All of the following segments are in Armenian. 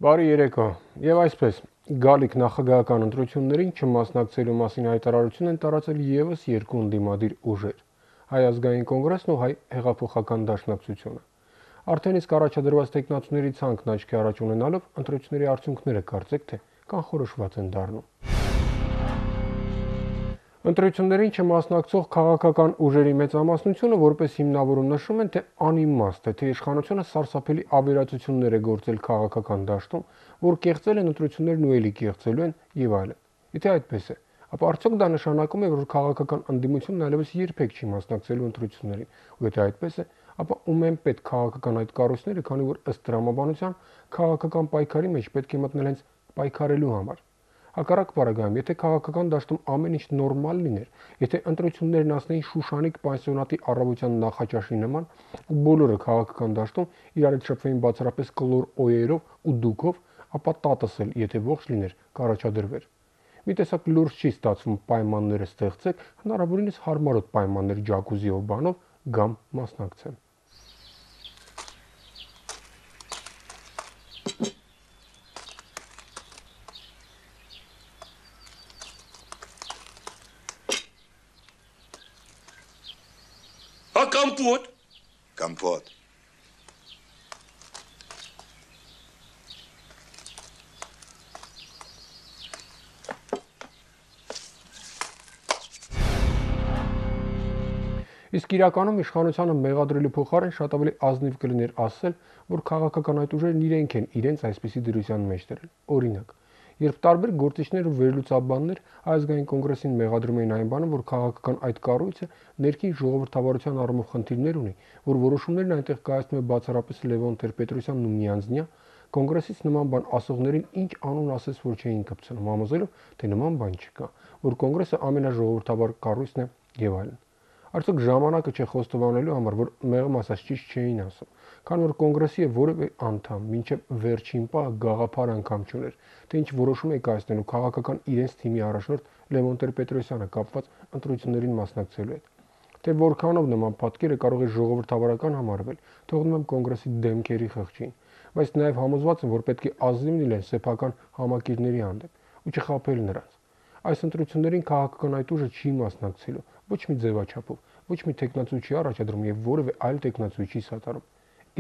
Բարի երեկո, եւ այսպես, գալիք նախագահական ընտրություններին չմասնակցելու մասին հայտարարություն են տարածել եւս երկու ընդդիմադիր ուժեր՝ Հայ ազգային կոնգրեսն ու Հայ հեղափոխական դաշնակցությունը։ Արդեն իսկ առաջադրված տեխնացուների ցանկն աչքի առաջ ունենալով ընտրությունների արդյունքները կարծեք թե կանխորոշված են դառնում։ Ընտրություններին չմասնակցող քաղաքական ուժերի մեծամասնությունը որպես հիմնավորում նշում են, թե անիմաստ է, թե իշխանությունը սարսափելի ավերածություններ է գործել քաղաքական դաշտում, որ կեղծել են ընտրություններն ու էլի կեղծելու են եւ այլն։ Եթե այդպես է, ապա արդյոք դա նշանակում է, որ քաղաքական ընդդիմությունն այլևս երբեք չի մասնակցելու ընտրություններին, ու եթե այդպես է, ապա ում են պետք քաղաքական այդ կառույցները, քանի որ ըստ տրամաբանության քաղաքական պայքարի մեջ պետք է մտնել հենց պայքարելու համար։ Հակառակ բaragայում, եթե քաղաքական դաշտում ամեն ինչ նորմալ լիներ, եթե ընտրություններն ասնեին Շուշանիկ պանսիոնատի առավոտյան նախաճաշի նման, ու բոլորը քաղաքական դաշտում իրար հետ շփվեին բացառապես կլոր օերով ու դուքով, ապա տատս էլ, եթե ողջ լիներ, կառաջադրվեր։ Մի տեսակ լուրջ չի ստացվում պայմանները ստեղծեք, հնարավորինս հարմարոտ պայմաններ ջակուզիով բանով գամ մասնակցեմ։ А компот? Компот. Իսկ իրականում իշխանությանը մեղադրելու փոխարեն շատ ավելի ազնիվ կլիներ ասել, որ քաղաքական այդ ուժերն իրենք են իրենց այսպիսի դրության մեջ դրել։ Օրինակ, երբ տարբեր գործիչներ ու վերլուծաբաններ ազգային կոնգրեսին մեղադրում էին այն բանը, որ քաղաքական այդ կառույցը ներքին ժողովրդավարության առումով խնդիրներ ունի, որ որոշումներն այնտեղ կայացնում է բացառապես Լևոն Տեր-Պետրոսյանն ու միանձնյա, կոնգրեսից նման բան ասողներին ինչ անուն ասես, որ չէին կպցնում, համոզելով, թե նման բան չկա, որ կոնգրեսը ամենաժողովրդավար կառույցն է եւ այլն։ Արդյոք ժամանակը չէ խոստովանելու համար, որ մեղմ ասած ճիշտ չէին ասում, քան որ կոնգրեսի որևէ անդամ մինչև վերջին պահը գաղափար անգամ չուներ, թե ինչ որոշում է կայացնելու քաղաքական իրենց թիմի առաջնորդ Լևոն Տեր-Պետրոսյանը կապված ընտրություններին մասնակցելու հետ։ Թե որքանով նման պատկերը կարող է ժողովրդավարական համարվել, թողնում եմ կոնգրեսի դեմքերի խղճին, բայց նաև համոզված եմ, որ պետք է ազնիվ լինել սեփական համակիրների հանդեպ ու չխաբել նրանց։ Այս ընտրություններին քաղաքական այդ ուժը չի մասնակցելու ոչ մի ձևաչափով, ոչ մի տեխնացու չի առաջադրում եւ որևէ այլ տեխնացու չի սատարում։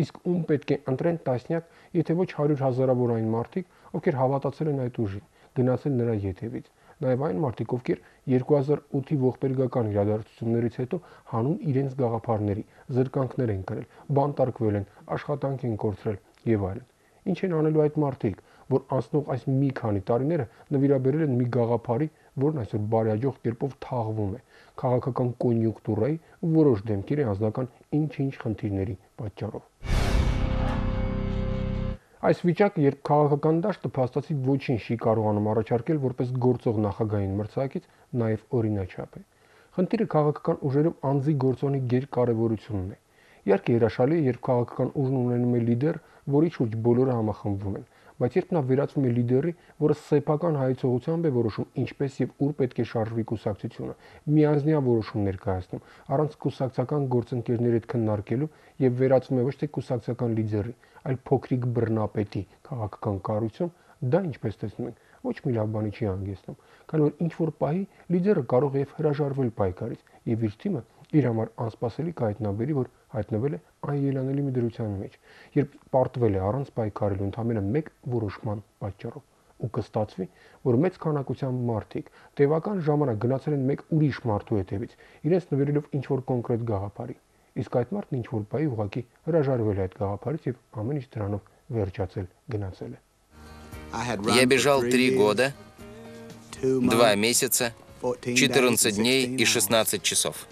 Իսկ ում պետք է ընտրեն տասնյակ, եթե ոչ 100 հազարավոր այն մարդիկ, ովքեր հավատացել են այդ ուժին, գնացել նրա ետևից, նաեւ այն մարդիկ, ովքեր 2008-ի ողբերգական իրադարձություններից հետո հանուն իրենց գաղափարների զրկանքներ են կրել, բանտարկվել են, աշխատանք են կորցրել եւ այլն։ Ինչ են անելու այդ մարդիկ, որ անցնող այս մի քանի տարիները նվիրաբերել են մի գաղափարի, որն այսօր բարեհաջող կերպով թաղվում է քաղաքական կոնյունկտուրայի ու որոշ դեմքերի անձնական ինչ-ինչ խնդիրների պատճառով։ Այս վիճակը, երբ քաղաքական դաշտը փաստացի ոչինչ չի կարողանում առաջարկել որպես գործող նախագահային մրցակից, նաև օրինաչափ է։ Խնդիրը քաղաքական ուժերում անձի գործոնի գերկարևորությունն է։ Իհարկե հրաշալի է, երբ քաղաքական ուժն ունենում է լիդեր, որի շուրջ բոլորը համախմբվում են, բայց երբ նա վերածվում է լիդերի, որը սեփական հայեցողությամբ է որոշում ինչպես եւ ուր պետք է շարժվի կուսակցությունը, միանձնյա որոշումներ կայացնում, առանց կուսակցական գործընկերների հետ քննարկելու եւ վերածվում է ոչ թե կուսակցական լիդերի, այլ փոքրիկ բռնապետի քաղաքական կառույցում, դա ինչպես տեսնում ենք, ոչ մի լավ բանի չի հանգեցնում, քանի որ ինչ որ պահի լիդերը կարող է հրաժարվել պայքարից եւ իր թիմը իր համար անսպասելի կհայտնաբերի, որ հայտնվել է անելանելի մի դրության մեջ, երբ պարտվել է առանց պայքարելու ընդամենը մեկ որոշման պատճառով, ու կստացվի, որ մեծ քանակությամբ մարդիկ տևական ժամանակ գնացել են մեկ ուրիշ մարդու հետևից, իրենց նվիրելով ինչ որ կոնկրետ գաղափարի, իսկ այդ մարդն ինչ որ պահի ուղղակի հրաժարվել է այդ гавапարից եւ ամեն ինչ դրանով վերջացել գնացել է։ Я бежал 3 года, 2 месяца, 14 дней и 16 часов.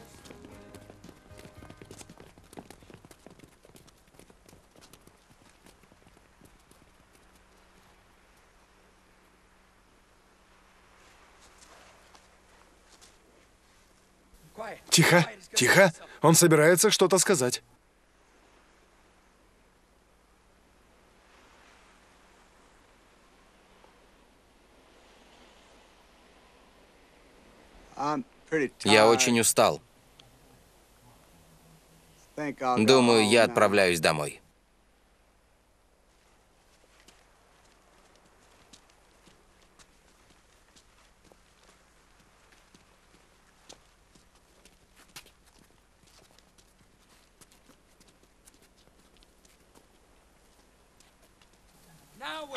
Тихо, тихо. Он собирается что-то сказать. Я очень устал. Думаю, я отправляюсь домой.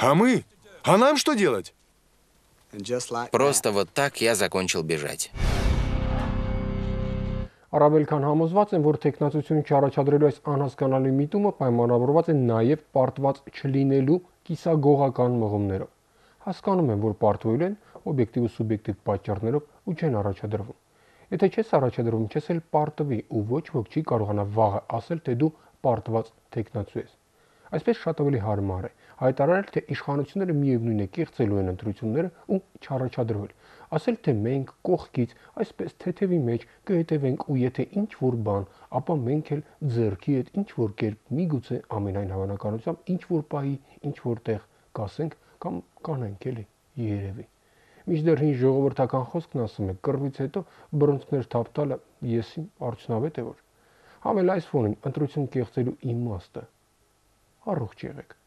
А мы? А нам что делать? Просто вот так я закончил бежать. Առավել քան համոզված են, որ տեխնացությունը չառաջադրելու այս անհասկանալի միտումը պայմանավորված է նաև պարտված չլինելու կիսագողական մղումներով։ Հասկանում են, որ պարտվելու են օբյեկտիվ ու սուբյեկտիվ պատճառներով ու չեն առաջադրվում։ Եթե չես առաջադրվում, չես էլ պարտվի ու ոչ ոք չի կարողանա վաղը ասել, թե դու պարտված տեխնացու ես։ Այսպես շատ ավելի հարմար է հայտարարել, թե իշխանությունները միևնույն է կեղծելու են ընտրությունները ու չառաջադրվել։ Ասել, թե մենք կողքից, այսպես թեթևի մեջ կհետևենք ու եթե ինչ-որ բան, ապա մենք էլ ձեռքի հետ ինչ-որ կերպ միգուցե ամենայն հավանականությամբ ինչ-որ պահի, ինչ-որ տեղ կասենք կամ կանենք էլի, երևի։ Մինչդեռ հին ժողովրդական խոսքն ասում է, կռվից հետո բռունցքներ թափ տալը եսի արդյունավետ է որ։ Համել այս ֆոնին ընտրություն կեղծելու իմաստը առողջ եղեք։